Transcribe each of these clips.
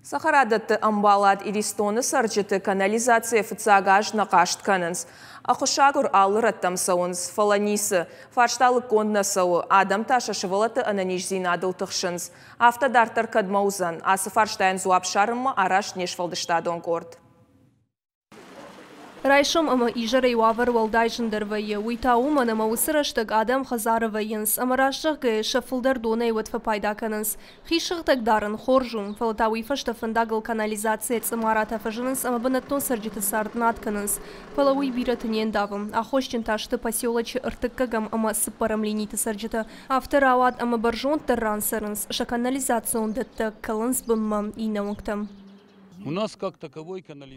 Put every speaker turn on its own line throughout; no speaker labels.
Цӕхӕрадӕтты ӕмбалад Иристоны цӕрджыты канализацийӕ фыццаг аз нӕ хъаст кӕнынц. Ӕххуысагур алы рӕттӕм цӕуынц, фӕлӕ ницы. Фарста лыггонд нӕ цӕуы, адӕм та сӕ сывӕллӕтты ӕнӕниздзинадыл тыхсынц. Афтӕ дарддӕр кӕдмӕ уыдзӕн? Ацы фарстайӕн дзуапп ссарынмӕ араст не сфӕлдыстадон къорд.
Райсом ӕмӕ изӕрӕй уавӕр уӕлдай зындӕр вӕййы. Уый та уымӕн, ӕмӕ уыцы рӕстӕг адӕм хӕдзары вӕййынц ӕмӕ раст зӕгъгӕйӕ сӕ фылдӕр донӕй уӕд фӕпайда кӕнынц. Хи сыгъдӕг дарын хорз у, фӕлӕ та уый фӕстӕ фӕндагыл канализацийӕ цъымаратӕ фӕзынынц ӕмӕ бынӕттон цӕрджыты цард над кӕнынц. Фӕлӕ уый бирӕты не ндавы. Аххосджын та сты поселочы ӕртыккӕгӕм ӕмӕ цыппӕрӕм линиты цӕрджытӕ. Афтӕ рауад ӕмӕ бӕрзонддӕр ран цӕрынц, сӕ канализацион дӕттӕ кӕлынц бынмӕ, иннӕ уынгтӕм.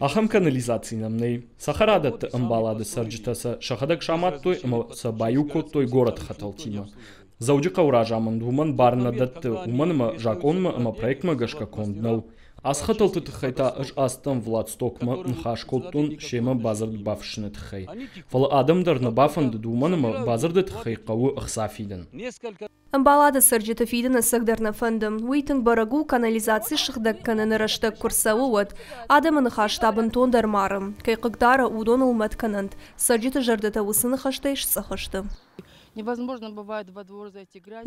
Ахӕм канализаци нӕм нӕй. Цӕхӕрадӕтты ӕмбалады цӕрджытӕ сӕ сӕхӕдӕг самадтой ӕмӕ сӕ баиу кодтой горӕты хӕтӕлтимӕ. Дзӕуджыхъӕуы разамынд уымӕн бар нӕ дӕтты, уымӕн ӕмӕ закъонмӕ ӕмӕ проектмӕ гӕсгӕ конд нӕу. Ацы хӕтӕлты тыххӕй та ӕз ацыдтӕн Владстокмӕ, ныхас кодтон семӕ бадзырд бафыссыны тыххӕй. Фӕлӕ адӕм дӕр нӕ бафӕндыд, уымӕн ӕмӕ бадзырды тыххӕй хъӕуы ӕхца фидын.
Ӕмбалады цӕрджыты фидын ӕцӕгдӕр нӕ фӕнды. Уый тынг бӕрӕг у, канализаци сыгъдӕг кӕныны рӕстӕг куы рцӕуы, уӕд. Адӕмы ныхас та бынтондӕр мары. Кӕй хъыгдары, уыдоныл мӕт кӕнӕнт. Цӕрджыты зӕрдӕтӕ уыцы ныхӕстӕй сцъӕх сты.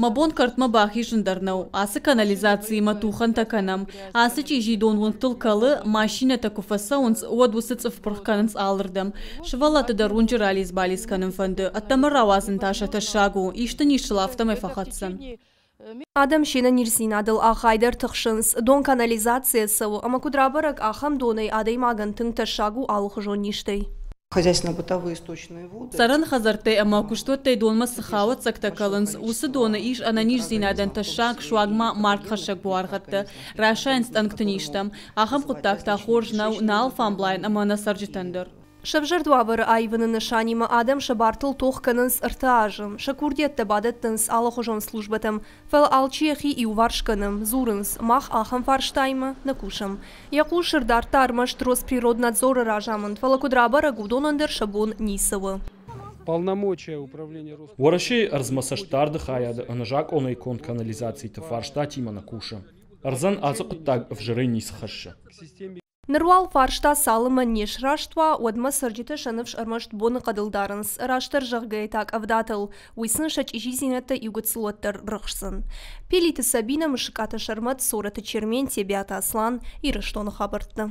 Мӕ бон кӕртмӕ бахизын дӕр нӕу. Ацы канализациимӕ тухӕнтӕ кӕнӕм. Ацы чъизи дон уынгтыл кӕлы, машинӕтӕ куы фӕцӕуынц, уӕд уыцы цъыф пырх кӕнынц алырдӕм. Сывӕллӕтты дӕр уынджы ралидз-балидз кӕнын фӕнды, ӕддӕмӕ рауадзын та сӕ тӕссаг у, исты низ сыл афтӕмӕй фӕхӕцдзӕн.
Адӕм се нӕниздзинадыл ахайдӕр тыхсынц. Дон канализацийӕ цӕуы ӕмӕ куыд рабӕрӕг, ахӕм донӕй адӕймагӕн тынг тӕссаг у алыхуызон низтӕй.
Хозяйственно-бытовые сточные воды.
Цӕрӕн хӕдзӕрттӕй ӕмӕ куыстуӕттӕй донмӕ цы хауӕццӕгтӕ кӕлынц, уыцы доны ис ӕнӕниздзинадӕн тӕссаг, суанг ма маргхӕссӕг буаргъӕдтӕ, расайынц тъӕнгты низтӕм. Ахӕм хъуыддаг та хорз нӕу нӕ алфамблайӕн ӕмӕ нӕ цӕрджытӕн дӕр.
Сӕвзӕрд уавӕры аивыны нысанимӕ адӕм сӕ бартыл тох кӕнынц ӕртӕ азы. Сӕ курдиӕттӕ бадӕттынц алыхуызон службӕтӕм, фӕлӕ алчи йӕхи иуварс кӕны. Дзурынц, мах ахӕм фарстаимӕ нӕ кусӕм. Йӕ хъус ӕрдардта ӕрмӕст Росприроднадзоры разамынд, фӕлӕ куыд рабӕрӕг, уыдонӕн дӕр сӕ бон ницы у.
Уӕрӕсейы ӕрдзмӕ цӕстдарды хайады ӕнӕзакъонӕй конд канализациты фарстатимӕ нӕ кусы. Ӕрдзӕн ацы хъуыддаг ӕвзӕрӕй ницы хӕссы.
Ныр уал фарста цалынмӕ не сраст уа, уӕдмӕ цӕрджытӕ сӕ ныфс ӕрмӕст боныхъӕдыл дарынц, растдӕр зӕгъгӕйӕ та къӕвдатыл. Уый сын сӕ чъизидзинӕдтӕ иугыццыл уӕддӕр рыхсдзӕн. Пелиты Сабинӕ, Мысыкаты Сӕрмӕт, Цорӕты Чермен, Тебиаты Аслан, Ирыстоны хабӕрттӕ.